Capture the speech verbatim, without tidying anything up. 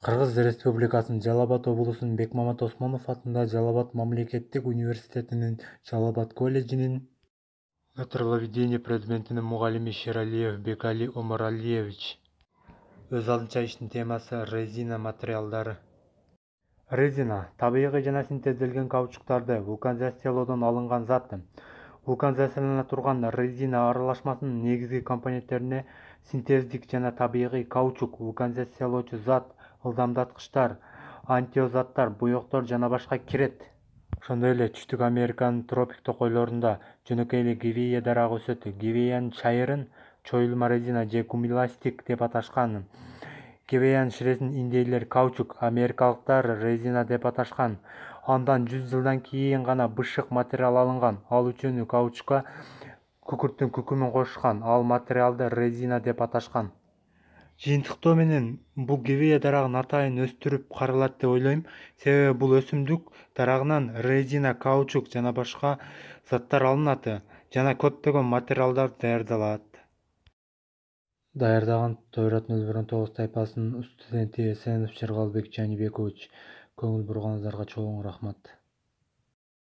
Кыргыз Республикасынын Жалал Абад облусунун Бекмамат Осмонов атындагы Жалал Абад мамлекеттик университетинин Жалал Абад колледжинин металловедение предметинин мугалими Шералиев Бекали Омаралиевич. Өз алдынча иштин темасы — резина материалдары. Резина — табигый жана синтезделген каучуктарды вулканизациялоодон алынган зат. Вулканизациялана турган резина аралашмасынын негизги компоненттерине синтездик жана табигый каучук, вулканизациялоочу зат, ылдамдаткычтар, антиозаттар, буйоктор жана башка кирет. Ошондой эле Түштүк Американын тропик токойлорунда, жөнөкөй эле Гвея дарагы өсөт. Гвеянын чайырын чоюлма резина же кумуластик деп аташкан. Гвеянын ширесин индейлер каучук, америкалыктар резина деп аташкан. Андан жүз жылдан кийин гана бышык материал алынган. Ал үчүн каучукка күкүрттүн күкүмүн кошушкан. Ал материалды резина деп аташкан. Жыйынтыктоо менен бул Гвея дарагын атайын өстүрүп каралат деп ойлойм. Себеби бул өсүмдүк дарагынан резина, каучук жана башка заттар алынат жана көптөгөн материалдар даярдалат. Даярдаган Тойрот нөл бир он тогуз тайпасынын студенти Эсенов Жыргалбек Жанибекович. Көңүл бурганыңыздарга чоң рахмат.